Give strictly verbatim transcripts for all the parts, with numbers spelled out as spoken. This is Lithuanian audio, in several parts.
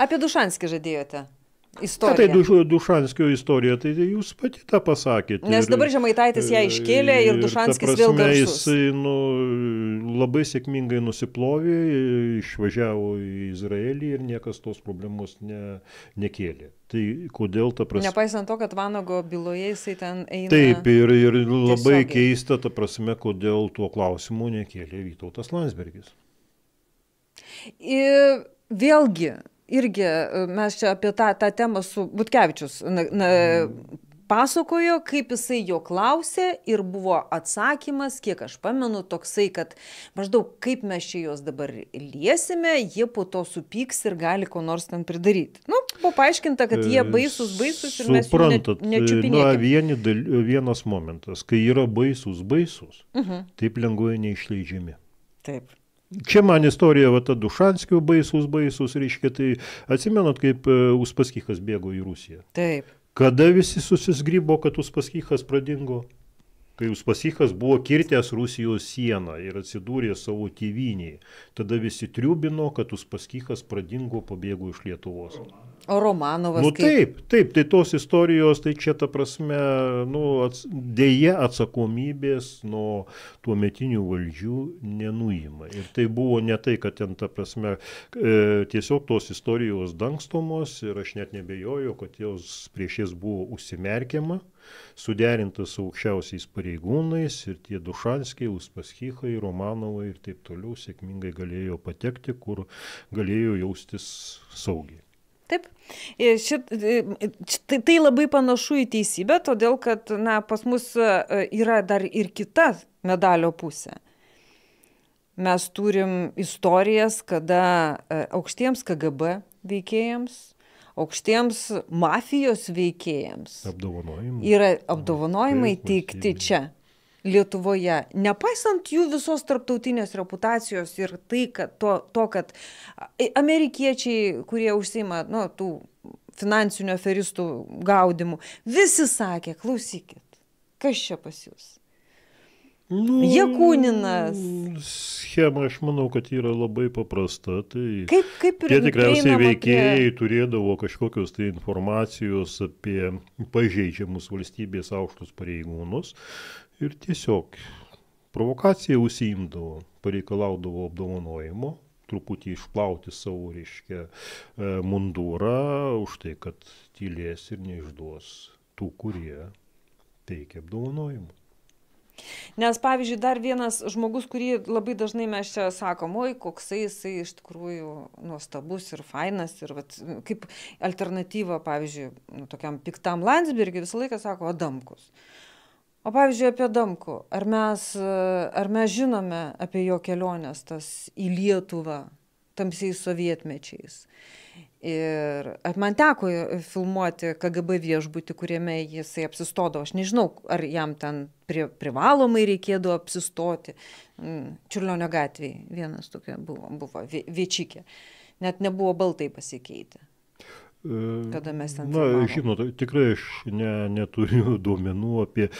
Apie Dušanskį žadėjote. Na, tai Duš, Dušanskio istorija, tai jūs pati tą pasakėte. Nes dabar Žemaitaitis ją iškėlė ir Dušanskis prasme, vėl garsus. Jisai nu, labai sėkmingai nusiplovė, išvažiavo į Izraelį ir niekas tos problemos ne, nekėlė. Tai kodėl ta prasme... Nepaisant to, kad Vanago byloje jisai ten eina... Taip, ir, ir labai tiesiogiai. keista ta prasme, kodėl tuo klausimu nekėlė Vytautas Landsbergis. Ir vėlgi, irgi mes čia apie tą, tą temą su Butkevičius na, na, pasakojo, kaip jisai jo klausė ir buvo atsakymas, kiek aš pamenu, toksai, kad maždaug kaip mes čia juos dabar liesime, jie po to supyks ir gali ko nors ten pridaryti. Nu, buvo paaiškinta, kad jie baisus, baisus ir mes jų ne, nečiupinėkime. Na, vieni, vienas momentas, kai yra baisus, baisus, uh-huh. taip lengvai neišleidžiami. Taip. Čia man istorija, va, ta Dušanskio baisus, baisus, reiškia, tai atsimenat, kaip Uspaskichas bėgo į Rusiją. Taip. Kada visi susisgrybo, kad Uspaskichas pradingo? Kai Uspaskichas buvo kirtęs Rusijos sieną ir atsidūrė savo tėvynėje, tada visi triubino, kad Uspaskichas pradingo, pabėgo iš Lietuvos. O Romanovas nu, kaip? Taip, taip, tai tos istorijos, tai čia ta prasme, nu, ats, dėja atsakomybės nuo tuometinių valdžių nenuima. Ir tai buvo ne tai, kad ten ta prasme, e, tiesiog tos istorijos dangstomos ir aš net nebejoju, kad jos prieš jas buvo užsimerkiama, suderintas su aukščiausiais pareigūnais ir tie Dušanskiai, Uspaskichai, Romanovai ir taip toliau sėkmingai galėjo patekti, kur galėjo jaustis saugiai. Taip, šit, tai, tai labai panašu į teisybę, todėl kad na, pas mus yra dar ir kita medalio pusė. Mes turim istorijas, kada aukštiems K G B veikėjams, aukštiems mafijos veikėjams apdovanojimai, yra apdovanojimai teikti čia. Lietuvoje, nepaisant jų visos tarptautinės reputacijos ir tai, kad to, to, kad amerikiečiai, kurie užsiima nu, tų finansinių aferistų gaudimų, visi sakė, klausykit, kas čia pas jūs? Nu, Jakuninas. Schema, aš manau, kad yra labai paprasta. Tai kaip, kaip tie tikriausiai veikėjai prie... turėdavo kažkokios tai informacijos apie pažeidžiamus valstybės aukštus pareigūnus. Ir tiesiog provokacija užsiimdavo, pareikalaudavo apdovanojimo, truputį išplauti savo, reiškia, mundurą už tai, kad tylės ir neišduos tų, kurie teikia apdovanojimą. Nes, pavyzdžiui, dar vienas žmogus, kurį labai dažnai mes čia sakom, oi, koksai jisai iš tikrųjų nuostabus ir fainas, ir vat, kaip alternatyva, pavyzdžiui, nu, tokiam piktam Landsbergiui visą laiką sako Adamkus. O pavyzdžiui, apie Adamkų, ar mes, ar mes žinome apie jo keliones tas į Lietuvą tamsiais sovietmečiais? Ir man teko filmuoti K G B viešbutį, kuriame jisai apsistodavo. Aš nežinau, ar jam ten pri, privalomai reikėdavo apsistoti. Čiurlionio gatvėje vienas tokia buvo, buvo Viečikė. Net nebuvo baltai pasikeitę. Kada mes ten Na, žinot, tikrai aš ne, neturiu duomenų apie e,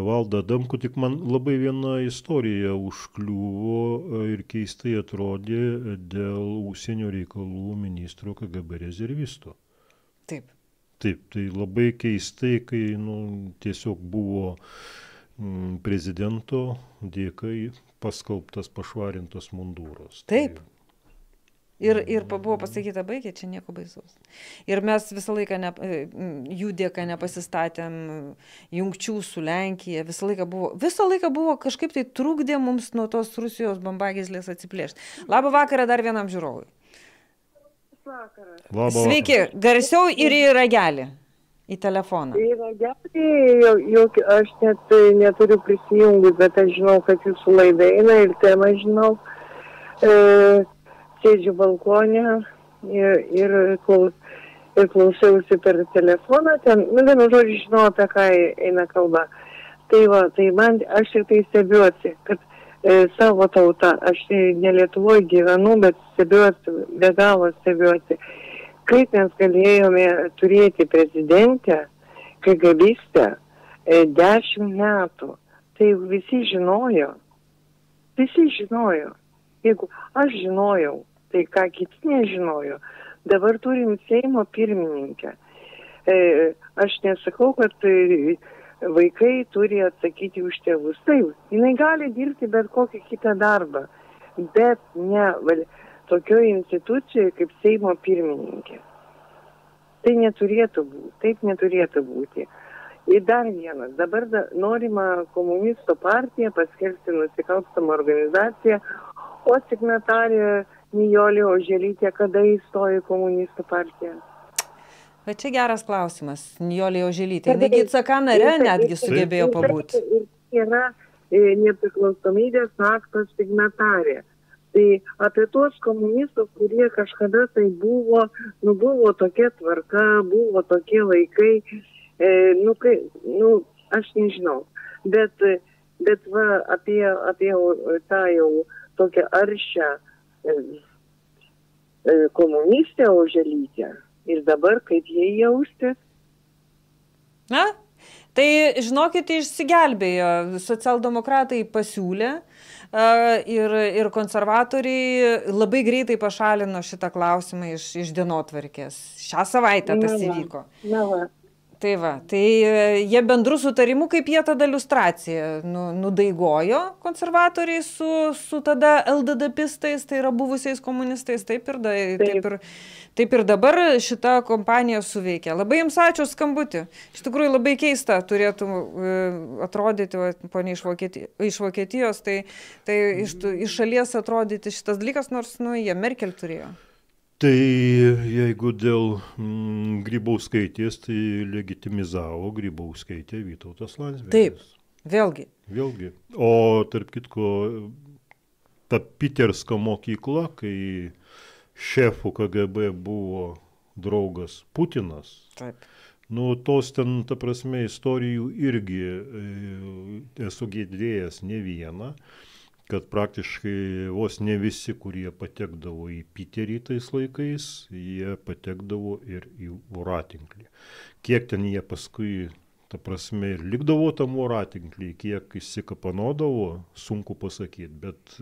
Valdą Adamkų, tik man labai viena istorija užkliuvo ir keistai atrodė dėl užsienio reikalų ministro K G B rezervisto. Taip. Taip, tai labai keistai, kai nu, tiesiog buvo m, prezidento dėkai paskelbtas pašvarintos mundūros. Taip. Tai... Ir, ir buvo pasakyta, baigė, čia nieko baisaus. Ir mes visą laiką ne, jų dėka nepasistatėm jungčių su Lenkija, visą laiką buvo, visą laiką buvo kažkaip tai trukdė mums nuo tos Rusijos bambagyslės atsiplėšti. Labą vakarą dar vienam žiūrovui. Vakaras. Labą Sveiki, vakarą. garsiau ir į ragelį, į telefoną. Į ragelį, jau, jau, aš net neturiu prisijungus, bet aš žinau, kad jūsų laida eina ir temą žinau. E, Sėdžiu balkonė ir, ir, klaus, ir klausiausi per telefoną, ten, nu, vienu žodžiu, žinau, apie ką eina kalba. Tai va, tai man, aš ir tai stebiuosi, kad e, savo tautą, aš ne Lietuvoje gyvenu, bet stebiuosi, be galo stebiuosi, kaip mes galėjome turėti prezidentę, KGBistę, e, dešimt metų. Tai visi žinojo, visi žinojo. Jeigu aš žinojau, tai ką kiti nežinojo, Dabar turim Seimo pirmininkę. E, aš nesakau, kad e, vaikai turi atsakyti už tėvus. Taip, jinai gali dirbti bet kokį kitą darbą, bet ne val, tokioje institucijoje kaip Seimo pirmininkė. Tai neturėtų būti, taip neturėtų būti. Ir dar vienas, dabar da, norima komunistų partiją paskelbti nusikalstamą organizaciją, o signatarė Nijolė Oželytė kada įstojo į komunistų partiją? Bet čia geras klausimas, Nijolė Oželytė. Negi C K nare netgi sugebėjo pabūti. Ir yra nepriklausomybės akto signatarė. Tai apie tuos komunistus, kurie kažkada tai buvo, nu buvo tokia tvarka, buvo tokie laikai, e, nu, kai, nu, aš nežinau. Bet, bet va, apie, apie tą jau tokią aršią e, komunistę Oželytę. Ir dabar kaip jie jaustis? Na, tai žinokite, išsigelbėjo. Socialdemokratai pasiūlė uh, ir, ir konservatoriai labai greitai pašalino šitą klausimą iš, iš dienotvarkės. Šią savaitę tas įvyko. Na va. Tai va, tai jie bendrų sutarimų, kaip jie tada liustraciją nu, nudaigojo konservatoriai su, su tada L D D pistais, tai yra buvusiais komunistais, taip ir, da, taip ir, taip ir dabar šita kompanija suveikia. Labai jums ačiū skambutį. Iš tikrųjų labai keista turėtų atrodyti, ponia iš, Vokieti, iš Vokietijos, tai, tai iš, iš šalies atrodyti šitas dalykas, nors nu, jie Merkel turėjo. Tai jeigu dėl mm, Grybauskaitės, tai legitimizavo Grybauskaitė Vytautas Landsbergis. Taip, vėlgi. Vėlgi. O tarp kitko, ta Piterska mokykla, kai šefų K G B buvo draugas Putinas, taip. Nu, tos ten, ta prasme, istorijų irgi e, esu girdėjęs ne vieną, kad praktiškai vos ne visi, kurie patekdavo į Piterį tais laikais, jie patekdavo ir į voratinklį. Kiek ten jie paskui, ta prasme, ir likdavo tam voratinklį, kiek išsikapanodavo, sunku pasakyti, bet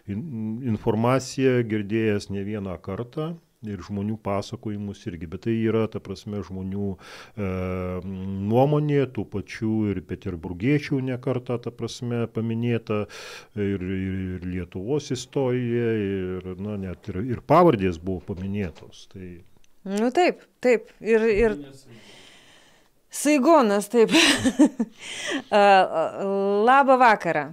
informaciją girdėjęs ne vieną kartą ir žmonių pasakojimus irgi, bet tai yra, ta prasme, žmonių e, nuomonė, tų pačių ir peterburgiečių ne kartą, ta prasme, paminėta ir, ir, ir Lietuvos istorija, ir, na, net ir, ir pavardės buvo paminėtos. Tai... Nu taip, taip, ir... ir... Saigonas, taip. Labą vakarą.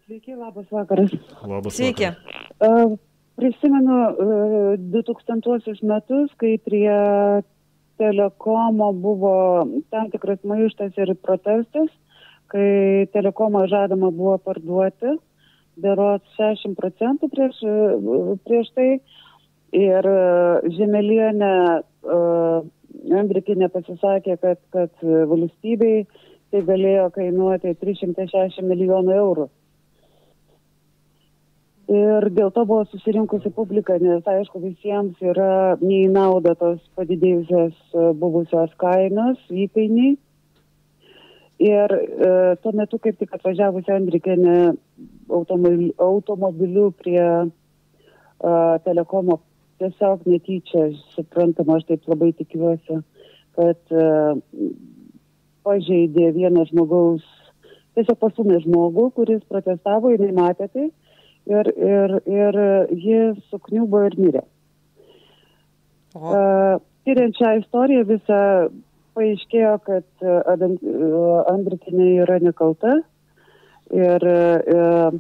Sveiki, labas vakaras. Labas Sveiki. vakaras. Uh, prisimenu uh, du tūkstantuosius metus, kai prie Telekomo buvo tam tikras maištas ir protestas, kai Telekomą žadama buvo parduoti, berods šešiasdešimt procentų prieš, prieš tai. Ir uh, Žemelienė uh, Andrikienė pasisakė, kad, kad valstybei tai galėjo kainuoti trys šimtai šešiasdešimt milijonų eurų. Ir dėl to buvo susirinkusi publika, nes aišku visiems yra nei nauda tos padidėjusios buvusios kainos, įkainiai. Ir e, tuo metu, kaip tik atvažiavusi Andrikienė automobiliu, automobiliu prie e, Telekomo, tiesiog netyčia, suprantama, aš taip labai tikiuosi, kad e, pažeidė vieną žmogaus, tiesiog pasumė žmogų, kuris protestavo, jinai matė tai, ir, ir, ir jis sukniubo ir mirė. Uh, tyriant šią istoriją visą paaiškėjo, kad Andrikienė yra nekalta ir uh,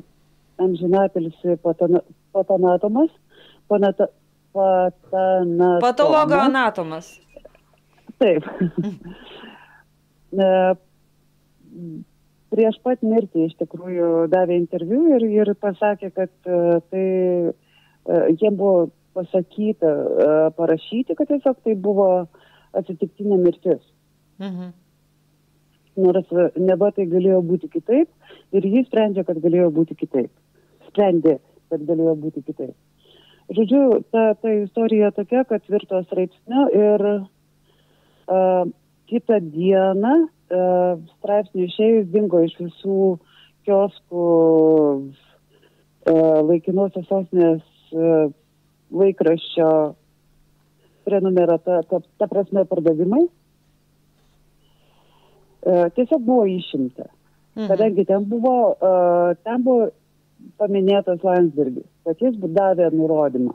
amžinatilsį patonatomas, panata, Patanatomas. Patologo anatomas. Taip. Prieš pat mirtį iš tikrųjų davė interviu ir, ir pasakė, kad uh, tai uh, jie buvo pasakyta, uh, parašyti, kad tiesiog tai buvo atsitiktinė mirtis. Mhm. Nors neva tai galėjo būti kitaip ir jis sprendžia, kad galėjo būti kitaip. Sprendė, kad galėjo būti kitaip. Žodžiu, ta, ta istorija tokia, kad virto straipsniu ir uh, kitą dieną uh, straipsnių išėjus dingo iš visų kioskų uh, laikinosios sostinės uh, laikraščio prenumerata, ta, ta prasme pardavimai, tiesiog buvo išimta. Mhm. Kadangi ten buvo, ten buvo paminėtas Landsbergis, kad jis davė nurodymą,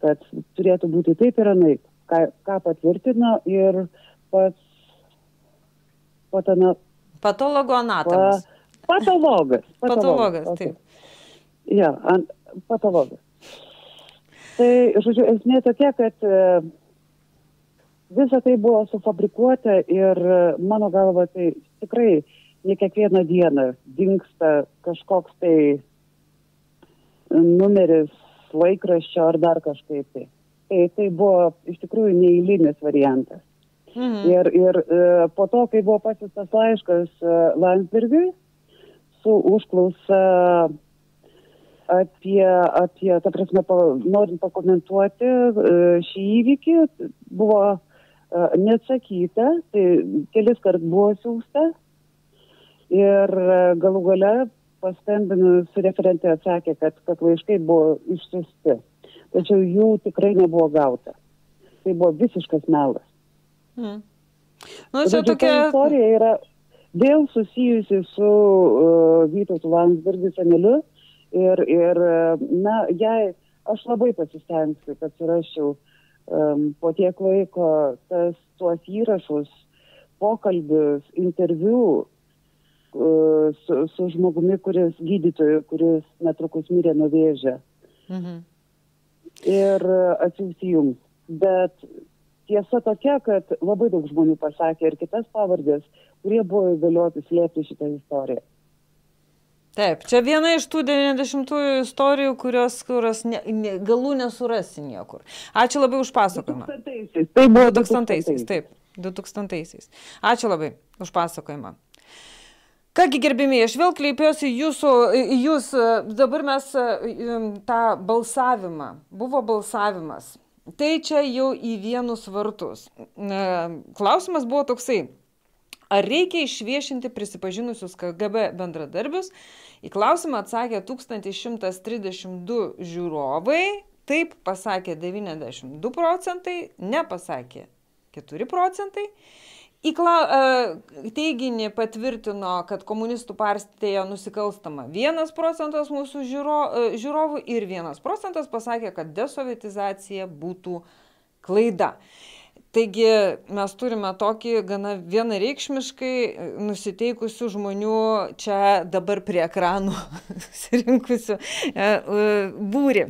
kad turėtų būti taip ir anaip, ką, ką patvirtino ir pats patana, patologoanatomas. Pa, patologas. Patologas, patologas taip. Ja, ant, patologas. Tai, žodžiu, esmė tokia, kad visa tai buvo sufabrikuota ir mano galva tai tikrai ne kiekvieną dieną dingsta kažkoks tai numeris laikraščio ar dar kažkaip tai. Tai, tai buvo iš tikrųjų neeilinis variantas. Mhm. Ir, ir po to, kai buvo pasiųstas laiškas Landsbergiui su užklausa apie, apie ta prasme, pa, norint pakomentuoti šį įvykį, buvo neatsakyta, tai kelis kart buvo siųsta ir galų gale paskambinus referentė atsakė, kad, kad laiškai buvo išsiųsti, tačiau jų tikrai nebuvo gauta. Tai buvo visiškas melas. Hmm. Nu, čia tokia... Ta istorija yra vėl susijusi su uh, Vytautu Landsbergiu seneliu ir, ir na, jei aš labai pasistengsiu, kad surasčiau um, po tiek laiko tas, tuos įrašus, pokalbius, interviu uh, su, su žmogumi, kuris gydytoju, kuris netrukus mirė nuo vėžio. Mhm. Ir atsiųsti jums. Bet tiesa tokia, kad labai daug žmonių pasakė ir kitas pavardės, kurie buvo įgalioti slėpti šitą istoriją. Taip, čia viena iš tų devyniasdešimtųjų istorijų, kurios, kurios ne, ne, galų nesurasi niekur. Ačiū labai už pasakojimą. du tūkstantaisiais. Tai buvo du tūkstantaisiais, taip, du tūkstantaisiais. Ačiū labai už pasakojimą. Kągi gerbimieji, aš vėl kreipiuosi jūsų, jūs, dabar mes tą balsavimą, buvo balsavimas, tai čia jau į vienus vartus. Klausimas buvo toksai, ar reikia išviešinti prisipažinusius K G B bendradarbius? Į klausimą atsakė tūkstantis šimtas trisdešimt du žiūrovai, taip pasakė devyniasdešimt du procentai, nepasakė keturi procentai. Į teiginį patvirtino, kad komunistų partija nusikalstama vienas procentas mūsų žiūro, žiūrovų ir vienas procentas pasakė, kad desovietizacija būtų klaida. Taigi mes turime tokį gana vienareikšmiškai nusiteikusių žmonių čia dabar prie ekranų surinkusių būrį.